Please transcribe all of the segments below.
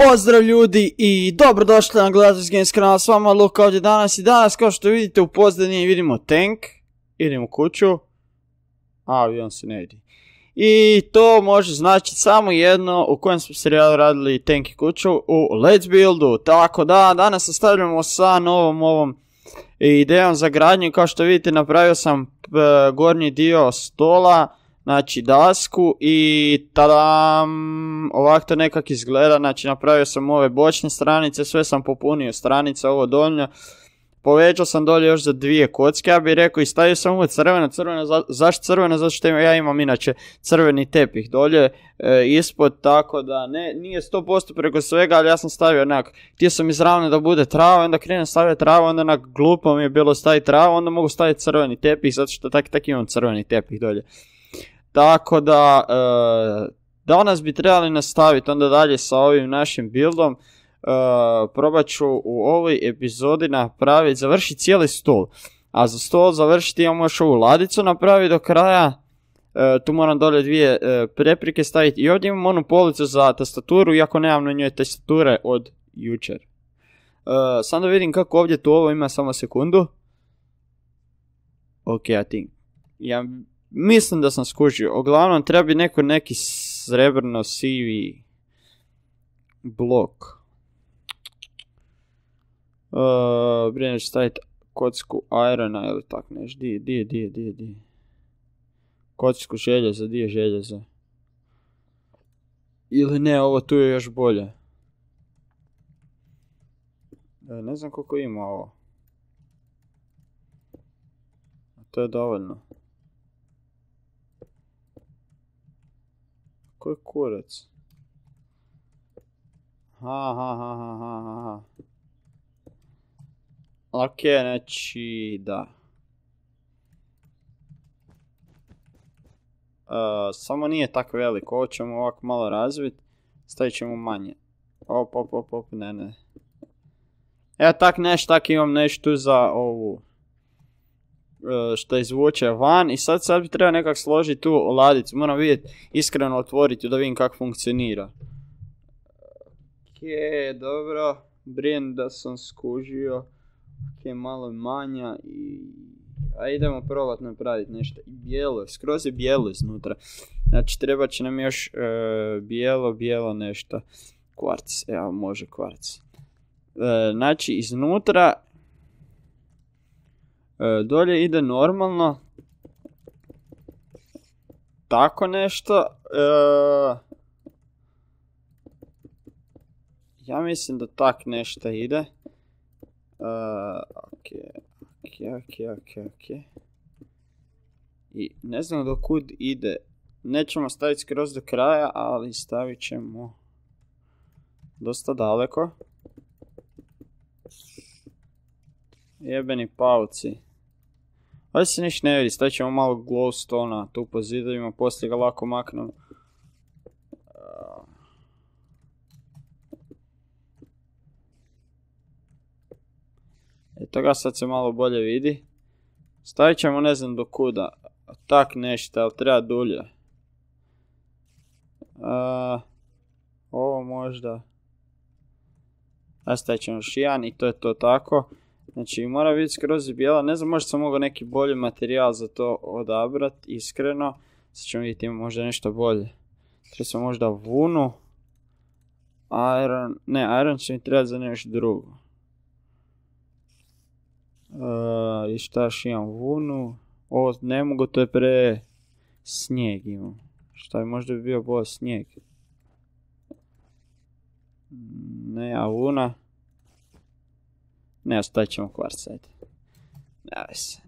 Pozdrav ljudi i dobrodošli na Gledateljski Games kanal, s vama Luka ovdje danas i danas kao što vidite u pozadini vidimo tank, idemo u kuću, a avion se ne vidi. I to može značiti samo jedno u kojem smo serijalu radili tank i kuću u Let's Buildu, tako da danas nastavljamo sa novom ovom idejom za gradnju. Kao što vidite napravio sam gornji dio stola, znači dasku i tadam, ovako to nekak izgleda. Znači napravio sam ove bočne stranice, sve sam popunio stranice, ovo donje. Povećao sam dolje još za 2 kocke, ja bih rekao, i stavio sam ovo crveno, zašto crveno? Zato što ja imam inače crveni tepih dolje ispod, tako da nije 100% preko svega, ali ja sam stavio onak, htio sam izravno da bude trava, onda krenem staviti travu, onda onak glupo mi je bilo staviti travu, onda mogu staviti crveni tepih, zato što tak imam crveni tepih dolje. Tako da, danas bi trebali nastaviti onda dalje sa ovim našim buildom. Probat ću u ovoj epizodi napraviti, završiti cijeli stol. A za stol završiti imam još ovu ladicu napraviti do kraja. Tu moram dolje 2 preprike staviti. I ovdje imam onu policu za tastaturu, iako nemam na njoj tastature od jučer. Sam da vidim kako ovdje tu ovo ima, samo sekundu. Ok, ja mislim da sam skužio. Uglavnom treba bi neki srebrno sivi blok. Brine ću staviti kocku irona ili tak neš. Di. Kocku željeza, di je željeza? Ili ne, ovo tu je još bolje. Ne znam koliko ima ovo. To je dovoljno. Koji kurac? Ha. Ok, znači, da. Samo nije tako veliko, ovo ćemo ovako malo razviti, stavit ćemo manje. Op, ne. Evo tak imam nešto za ovu, što izvuče van i sad bi trebao nekak složiti tu ladicu, moram vidjeti, iskreno otvoriti da vidim kako funkcionira. Ok, dobro, brinem da sam skužio. Ok, malo manja i... A idemo probati napraviti nešto. I bijelo, skroz je bijelo iznutra. Znači treba će nam još bijelo nešto. Kvarc, evo može kvarc. Znači iznutra... dolje ide normalno. Tako nešto. Ja mislim da tak nešto ide. Ok. I ne znam do kud ide. Nećemo staviti skroz do kraja, ali stavit ćemo dosta daleko. Jebeni pauci. Ovdje se ništa ne vidi, stavit ćemo malo glowstone-a tu po zidovima, poslije ga lako maknemo. Eto ga, sad se malo bolje vidi. Stavit ćemo ne znam do kuda. Tak nešto, ali treba dulje. Ovo možda. Stavit ćemo još jedan i to je to tako. Znači mora biti skroz bijela, ne znam, možda sam mogao neki bolji materijal za to odabrati, iskreno. Sad ćemo vidjeti, ima možda nešto bolje. Treba sam možda vunu. Iron će mi trebati za nešto drugo. I šta još imam, vunu. Ovo ne mogu, to je snijeg imam. Šta bi možda bio bolj snijeg. Ne, a vuna. Ne, ostavit ćemo kvarc, ajde.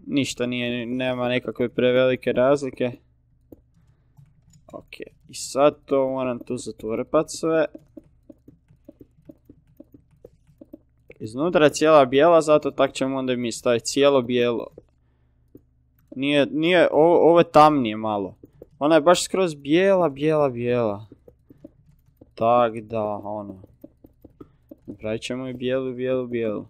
Ništa nema nekakve prevelike razlike. Ok, i sad to moram tu zatvorpat sve. Iznutra je cijela bijela, zato tak ćemo onda mi staviti cijelo bijelo. Ovo je tamnije malo. Ona je baš skroz bijela. Tak da, ono. Napravit ćemo i bijelu.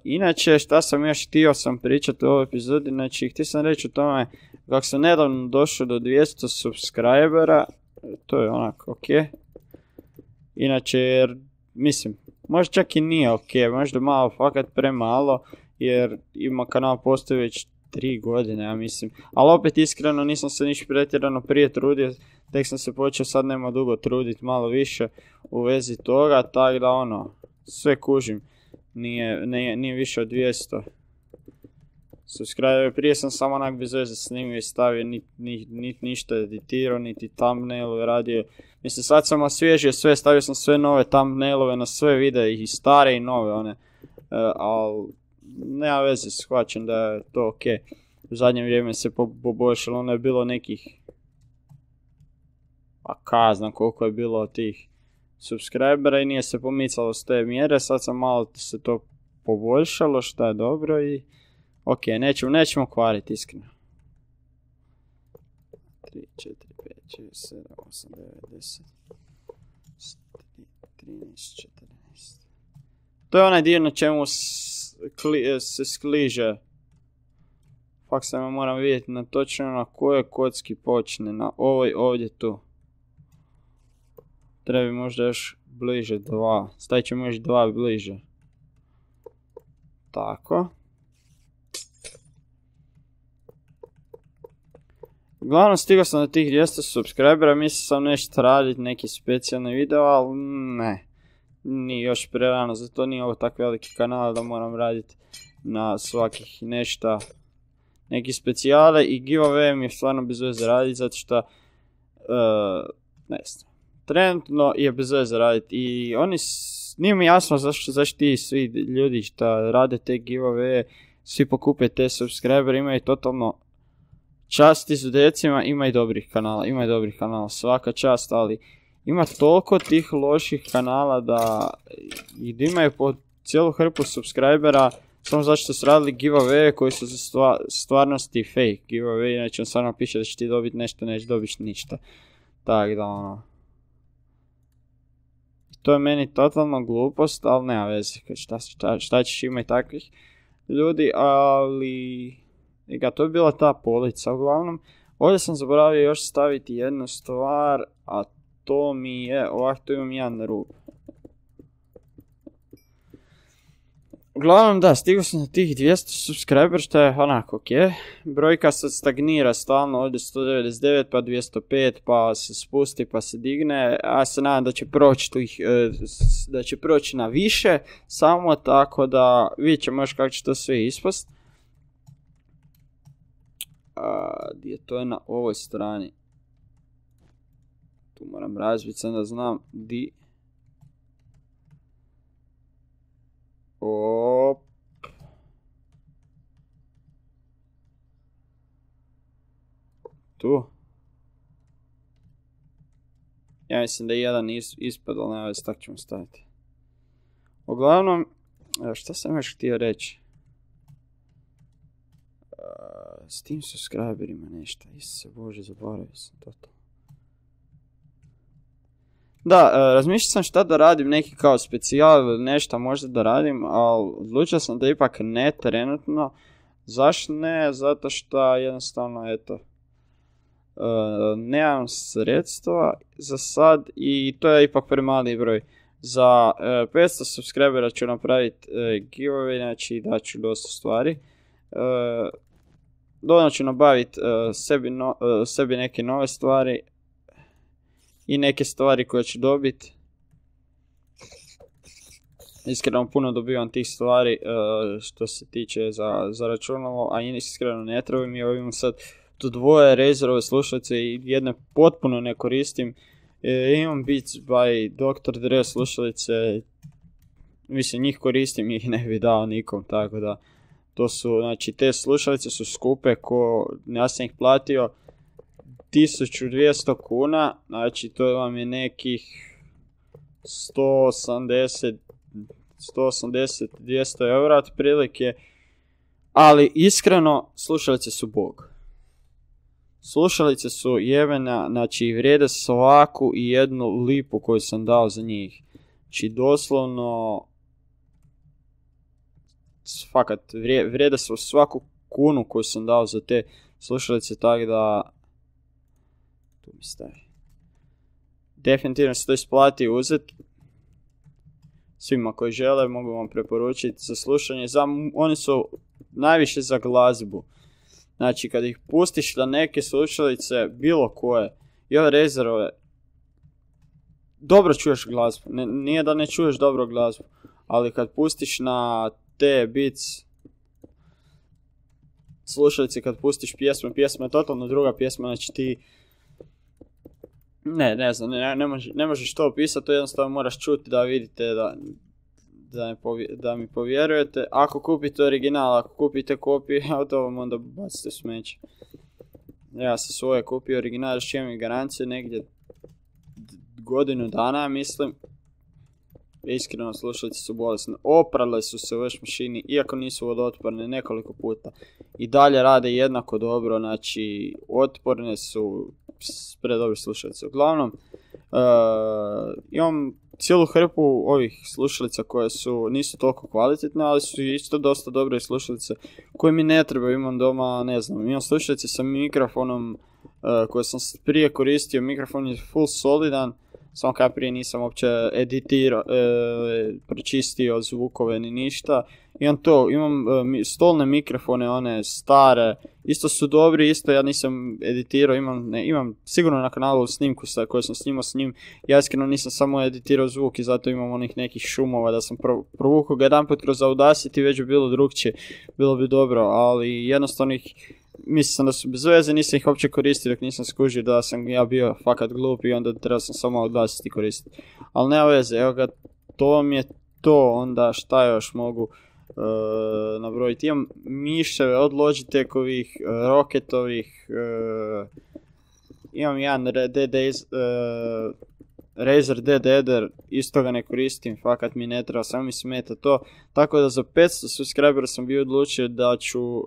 Inače, šta sam još htio pričati u ovoj epizodi, znači htio sam reći o tome kako sam nedavno došao do 200 subscribera, to je onak ok. Inače, jer, mislim, možda čak i nije ok, možda malo fakat premalo, jer ima kanal postoji već 3 godine, ja mislim. Ali opet iskreno nisam se niš pretjerano prije trudio, tek sam se počeo sad nema dugo truditi malo više u vezi toga, tako da ono, sve kužim, nije više od 200 subscribera. Prije sam samo onak bez veze snimio i stavio, ništa editirao, niti thumbnailove radio. Mislim, sad sam osvježio sve, stavio sam sve nove thumbnailove na sve videe, i stare i nove one, ali nema veze, shvaćam da je to ok. U zadnje vrijeme se poboljšalo, ono je bilo nekih, pa znam koliko je bilo tih subscribera i nije se pomicalo s te mjere, sad sam malo se to poboljšalo, što je dobro i ok, nećemo kvariti iskreno. 3, 4, 5, 6, 7, 8, 9, 10, 13, 14. To je onaj dio na čemu se skliže. Fak samo moram vidjeti na točno na kojoj kocki počne, na ovoj ovdje tu. Treba možda još bliže 2, stavit ćemo još 2 bliže. Tako. Uglavnom stigao sam do tih 200 subscribera, mislio sam nešto raditi, neki specijalni video, ali ne. Nije još prerano, zato nije ovo tako veliki kanal da moram raditi na svakih nešto. Neki specijale i giveaway mi je stvarno bez veze raditi, zato što, ne znam, trenutno je bez veze raditi i nije mi jasno zašto ti svi ljudi što rade te giveaway, svi pokupe te subscribere, imaju totalno čast izudecima, ima i dobrih kanala, svaka čast, ali ima toliko tih loših kanala da imaju po cijelu hrpu subscribera samo zato što su radili giveaway koji su za stvarnosti fake giveaway, znači on stvarno piše da će ti dobiti nešto, neće dobiti ništa. Tako da ono, to je meni totalno glupost, ali nema veze, šta ćeš, ima i takvih ljudi, ali to je bila ta polica. Uglavnom, ovdje sam zaboravio još staviti jednu stvar, a to mi je, ovako tu imam jedan rub. Uglavnom da, stigao sam na tih 200 subscriber, što je onako ok. Brojka sad stagnira stalno, ovdje 199, pa 205, pa se spusti, pa se digne. Ja se nadam da će proći na više, samo tako da vidjet ćemo još kako će to sve ispast. Gdje to je na ovoj strani. Tu moram razbiti sam da znam di. Op. Tu. Ja mislim da je jedan ispad, ali nema veze, tako ćemo staviti. Uglavnom, šta sam još htio reći? S tim subscriberima nešto, Isuse Bože, zaboravio sam to. Da, razmišljao sam šta da radim, neki kao specijal ili nešto možda da radim, ali odlučio sam da ipak ne trenutno. Zašto ne? Zato što jednostavno, eto, nemam sredstva za sad i to je ipak premali broj. Za 500 subscribera ću napraviti giveaway, znači daću dosta stvari. Dodatno ću nabaviti sebi neke nove stvari i neke stvari koje ću dobiti. Iskreno puno dobivam tih stvari što se tiče za računalo, a iskreno ne treba mi. Imam sad tu dvoje Razerove slušalice i jedne potpuno ne koristim. Imam Beats by Dr. Dre slušalice, mislim njih koristim, ih ne bi dao nikom, tako da to su, znači te slušalice su skupe, ja sam ih platio 1200 kuna, znači to vam je nekih 180-200 eura otprilike, ali iskreno slušalice su bog. Slušalice su jebena, znači vrijede svaku i jednu lipu koju sam dao za njih. Znači doslovno, fakat, vrijede su svaku kunu koju sam dao za te slušalice, tako da, tu mi stavi. Definitivno se to isplati uzeti, svima koji žele, mogu vam preporučiti za slušanje. Oni su najviše za glazbu. Znači, kad ih pustiš na neke slušalice, bilo koje, i ove Razerove, dobro čuješ glazbu. Nije da ne čuješ dobro glazbu, ali kad pustiš na te Beats slušalice, kad pustiš pjesma je totalno druga pjesma, znači ti ne znam, ne možeš to opisati, to jednostavno moraš čuti da vidite da mi povjerujete. Ako kupite original, ako kupite kopiju, to vam onda bacite smeće. Ja sam svoje kupio original, još imam i garancije negdje godinu dana, mislim. Iskreno, slušalice su bolesne. Oprale su se u veš mašini, iako nisu vodootporne nekoliko puta. I dalje rade jednako dobro, znači otporne su, predobre slušalice. Uglavnom, imam cijelu hrpu ovih slušalica koje nisu toliko kvalitetne, ali su isto dosta dobre slušalice koje mi ne trebaju. Imam doma, ne znam, imam slušalice sa mikrofonom koje sam prije koristio. Mikrofon je full solidan, samo kad prije nisam uopće pročistio zvukove ni ništa. Imam stolne mikrofone, one stare, isto su dobri, isto ja nisam editirao, imam sigurno na kanalu snimku koju sam snimao s njim. Ja iskreno nisam samo editirao zvuk i zato imam onih nekih šumova, da sam provukao ga jedan put kroz Audacity, već bi bilo drugčije, bilo bi dobro, ali jednostavno mislio sam da su bez veze, nisam ih uopće koristio dok nisam skužio da sam ja bio fakat glup i onda trebao sam samo Audacity koristiti. Ali nema veze, evo ga, to mi je to, onda šta još mogu nabrojiti. Imam miševe od Logitechovih, Rocketovih, imam jedan Razer Dead Eder, isto ga ne koristim, fakat mi ne treba, samo mi smeta to. Tako da za 500 subscribera sam bio odlučio da ću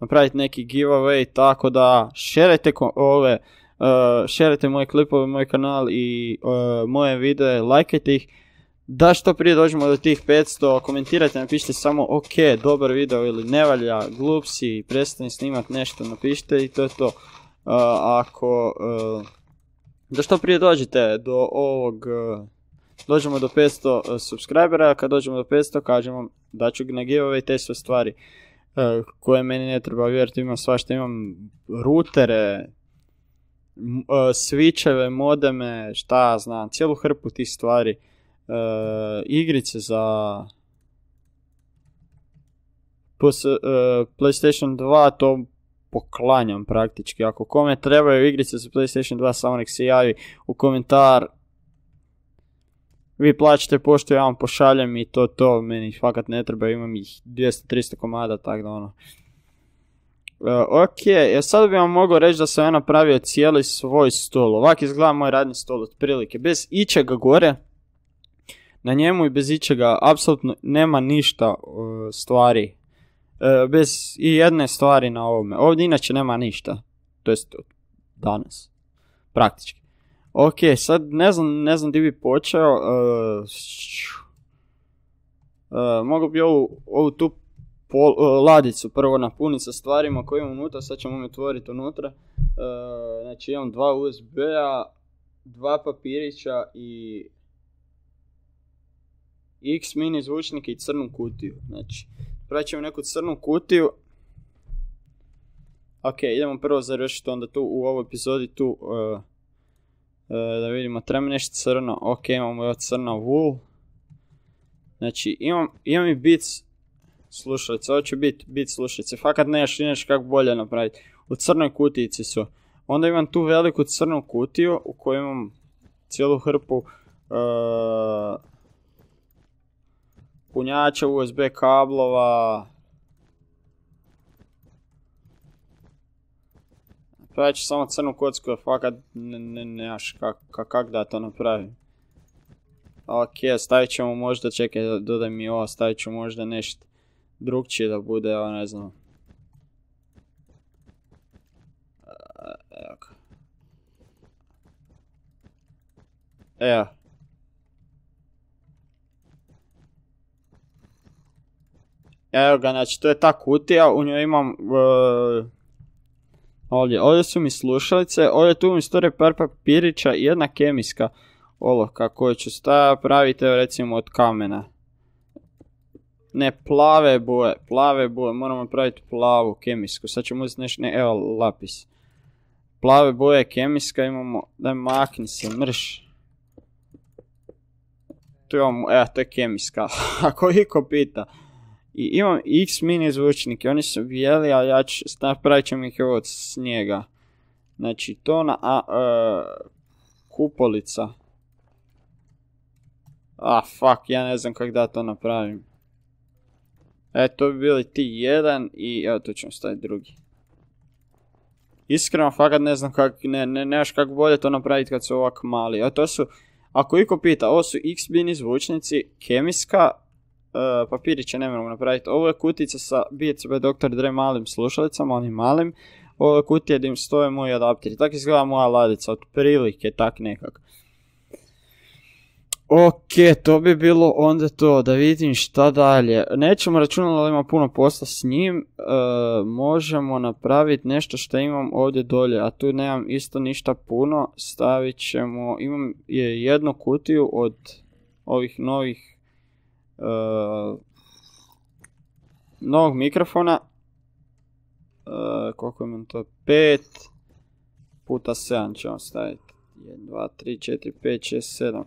napraviti neki giveaway, tako da šerajte moje klipove, moj kanal i moje videe, lajkajte ih. Da što prije dođemo do tih 500, komentirajte, napišite samo ok, dobar video ili ne valja, glup si, prestani snimat nešto, napišite i to je to. Da što prije dođete do ovog, dođemo do 500 subscribera, kad dođemo do 500 kažem vam da ću na giveaway te sve stvari koje meni ne treba, vjerujte, imam svašta, imam rutere, switcheve, modeme, šta znam, cijelu hrpu tih stvari. Igrice za PlayStation 2, to poklanjam praktički. Ako kome trebaju igrice za PlayStation 2, samo nek se javi u komentar. Vi plaćate pošto, ja vam pošaljem i to meni fakat ne treba, imam ih 200-300 komada, tako da ono. Ok, sad bi vam mogao reći da sam ja napravio cijeli svoj stol. Ovak izgleda moj radni stol otprilike, bez ičega gore. Na njemu i bez ičega apsolutno nema ništa stvari. Bez i jedne stvari na ovome. Ovdje inače nema ništa. To jest danas. Praktički. Ok, sad ne znam gdje bi počeo. Mogu bi ovu tu ladicu prvo napuniti sa stvarima koje imam unutra. Sad ćemo mi otvoriti unutra. Znači imam 2 USB-a, 2 papirića i X mini zvučnike i crnu kutiju. Znači, pravit ćemo neku crnu kutiju. Ok, idemo prvo završiti onda tu u ovoj epizodi tu. Da vidimo, treba nešto crno. Ok, imamo ovo crna wool. Znači, imam i Beats slušalice. Ovo će biti Beats slušalice. Fakat nešto kako bolje napraviti. U crnoj kutijici su. Onda imam tu veliku crnu kutiju u kojoj imam cijelu hrpu punjača, USB kablova. Pravit ću samo crnu kocku, jer fakat nemaš kak da to napravim. Ok, stavit ćemo možda, čekaj, dodaj mi ovo, stavit ću možda nešto drugčije da bude, ne znam. Evo ga. Evo. Evo ga, znači to je ta kutija, u njoj imam ovdje su mi slušalice, ovdje tu mi stoje par papirića i jedna kemijska. olovka koju ću praviti recimo od kamena. Ne, plave boje, moramo praviti plavu kemijsku, sad ćemo uzeti nešto, ne, evo lapis. Plave boje kemijska imamo, daj makni se, mrš. Tu imamo, evo to je kemijska, ako iko pita. I imam X mini zvučnike, oni su bijeli, ali ja ću, napravit ćemo ih od snijega. Znači to na kupolica. Fuck, ja ne znam kako da to napravim. To bi bili ti jedan i evo tu ćemo staviti drugi. Iskreno fakat ne znam kako, nemaš kako bolje to napraviti kad su ovako mali. To su, ako iko pita, ovo su X mini zvučnici, kemijska, papiriće ne moramo napraviti. Ovo je kutica sa Beats by Dr. Dre malim slušalicama, onim malim. Ovo je kutija gdje im stoje moji adapteri. Tako izgleda moja ladica, otprilike, tak nekak. Ok, to bi bilo onda to, da vidim šta dalje. Nećemo računati da ima puno posla s njim. Možemo napraviti nešto što imam ovdje dolje, a tu nemam isto ništa puno. Stavit ćemo, imam jednu kutiju od ovih novog mikrofona. Koliko imam to? 5 puta 7 ćemo staviti. 1, 2, 3, 4, 5, 6, 7.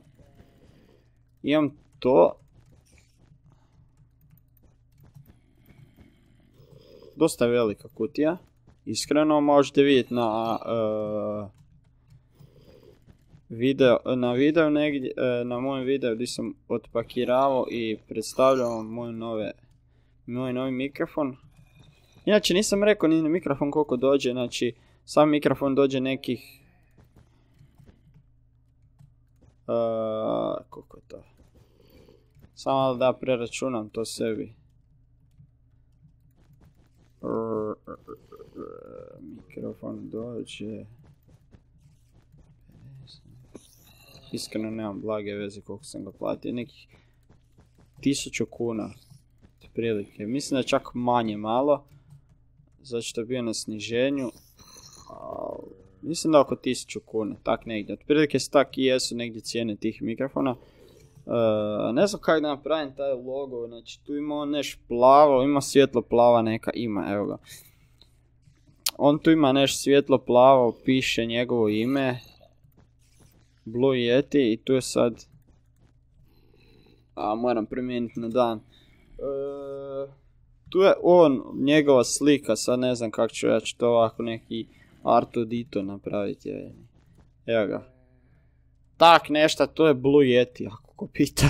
Imam to. Dosta velika kutija. Iskreno možete vidjeti na videu negdje, na mojem videu gdje sam otpakiravao i predstavljao moj novi mikrofon. Inače nisam rekao ni mikrofon koliko dođe, znači sam mikrofon dođe nekih... koliko je to? Samo da preračunam to sebi. Mikrofon dođe... Iskreno nemam blage veze koliko sam ga platio, nekih 1000 kuna. Prilike. Mislim da čak manje malo. Zato što je bio na sniženju. Mislim da oko 1000 kuna, tak negdje. Otprilike se tak i jesu negdje cijene tih mikrofona. Ne znam kako da napravim taj logo, znači tu ima nešto plavo, ima svjetlo plava neka, ima, evo ga. On tu ima nešto svjetlo plavo, piše njegovo ime. Blue Yeti i tu je sad... moram promijeniti na dan. Tu je njegova slika, sad ne znam kako ću, ja ću to ovako neki Artudito napraviti. Evo ga. Tak nešto, to je Blue Yeti, ako ko pita.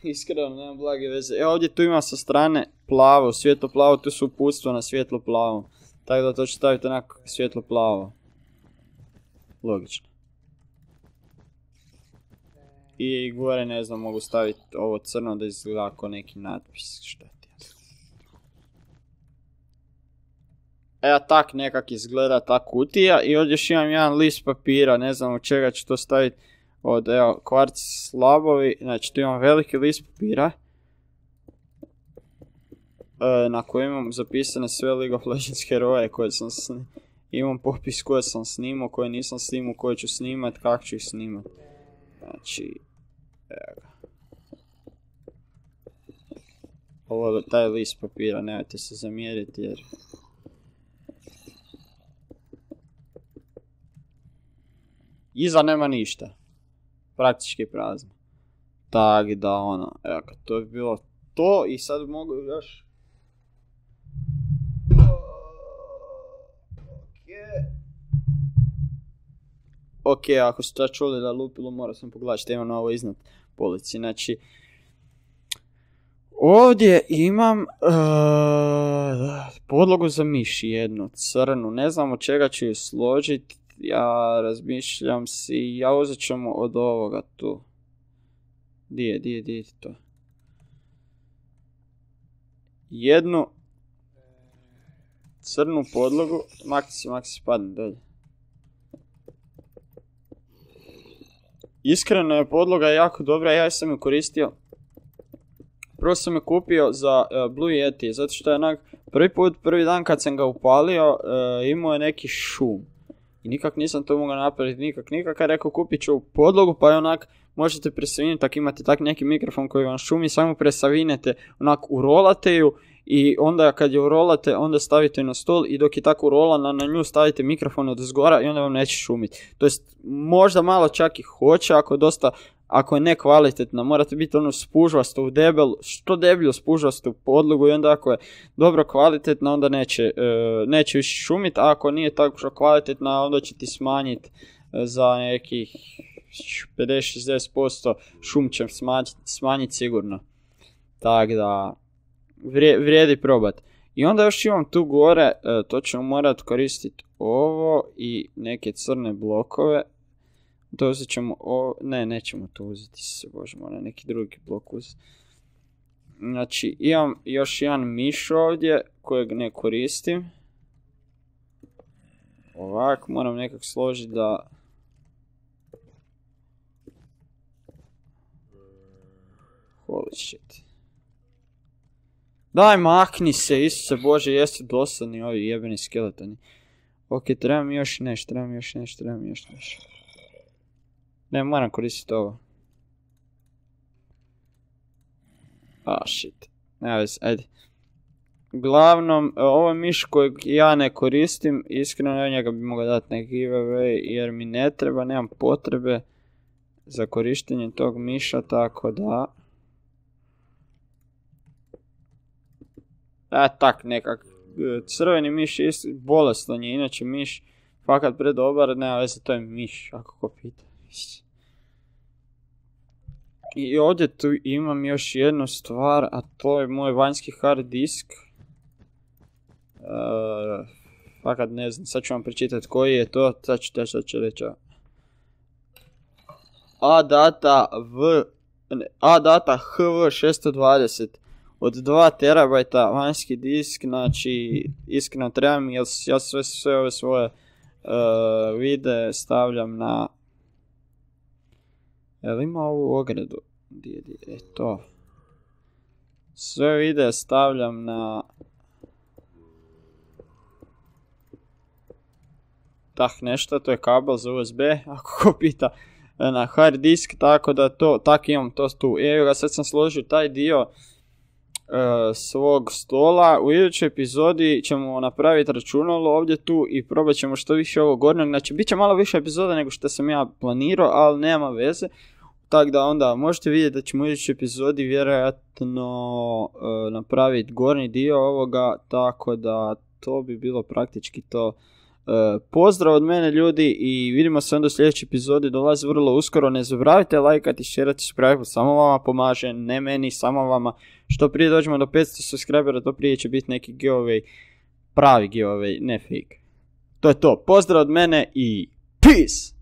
Iskreno, nemam blage veze. Ovdje tu ima sa strane plavo, svjetlo plavo, tu su uputstva na svjetlo plavo. Tako da to ću staviti onako svjetlo plavo. Logično. I gore ne znam, mogu staviti ovo crno da izgleda kao neki natpis, šta ti ja znam. Evo tak nekak izgleda ta kutija i ovdje još imam jedan list papira, ne znam od čega ću to staviti. Od evo, kvarc slabovi, znači tu imam veliki list papira. Na kojem imam zapisane sve League of Legends heroje koje sam imam popis koje sam snimao, koje nisam snimao, koje ću snimat, kako ću ih snimat. Znači, evo ga. Ovo je taj list papira, nemojte se zamjeriti jer... Iza nema ništa. Praktički prazno. Tak da ono, evo ga, to bi bilo to i sad mogu još... Ok, ako ste čuli da lupilo, morao sam pogledati što imam na ovo iznad polici. Znači, ovdje imam podlogu za miši jednu, crnu. Ne znam od čega ću ju složiti. Ja razmišljam si, ja uzet ćemo od ovoga tu. Di je to? Jednu crnu podlogu. Maksi, padne dolje. Iskreno je podloga jako dobra, ja sam ju koristio. Prvo sam ju kupio za Blue Yeti, zato što je prvi dan kad sam ga upalio imao je neki šum. I nikak nisam to mogao napraviti, nikak. Ja rekao kupit ću podlogu pa je onak možete presaviniti, ako imate tak neki mikrofon koji vam šumi, samo presavinete, onak urolate ju i onda kad je urolate, onda stavite na stol i dok je tako urolana na nju stavite mikrofon od zgora i onda vam neće šumiti. To jest možda malo čak i hoće ako je nekvalitetna, morate biti ono spužvasto u što deblju spužvastu podlogu i onda ako je dobro kvalitetna onda neće više šumiti, a ako nije tako što kvalitetna onda će ti smanjiti za nekih 50-60% šum će smanjiti sigurno. Tako da vrijedi probat. I onda još imam tu gore, to ćemo morati koristiti ovo i neke crne blokove. To uzet ćemo nećemo to uzeti se, bože, mora neki drugi blok uzeti. Znači, imam još jedan miš ovdje kojeg ne koristim. Ovak, moram nekak složiti da... Holy shit. Daj, makni se, Isuse Bože, jeste dosadni ovi jebeni skeletoni. Ok, trebam još nešto. Ne, moram koristiti ovo. Shit. Ne vezi, ajde. Uglavnom, ovo je miš kojeg ja ne koristim. Iskreno, njega bi mogao dati neki giveaway jer mi ne treba, nemam potrebe za korištenje tog miša, tako da... Tak, nekak. Crveni miš je bolestan je, inače miš fakat predobar, nema veze, to je miš, ako ko pita. I ovdje tu imam još jednu stvar, a to je moj vanjski hard disk. Fakat ne znam, sad ću vam pričitati koji je to, sad ću reći. ADATA HV620 od 2 terabajta vanjski disk, znači iskreno treba mi, jer ja sve ove svoje videe stavljam na... Jel ima ovu ogradu? To. Sve videe stavljam na... nešto, to je kabel za USB, ako ko pita, na hard disk, tako da imam to tu. Evo ga, sad sam složio taj dio svog stola. U idućoj epizodi ćemo napraviti računalo ovdje tu i probat ćemo što više ovog gornjeg. Znači, bit će malo više epizoda nego što sam ja planirao, ali nema veze. Tako da onda možete vidjeti da ćemo u idućoj epizodi vjerojatno napraviti gornji dio ovoga, tako da to bi bilo praktički to. Pozdrav od mene ljudi i vidimo se onda u sljedećoj epizodi, dolazi vrlo uskoro. Ne zaboravite lajkati, šerati, subscribe, samo vama pomaže, ne meni, samo vama. Što prije dođemo do 500 subscribera, to prije će biti neki giveaway, pravi giveaway, ne fake. To je to, pozdrav od mene i peace!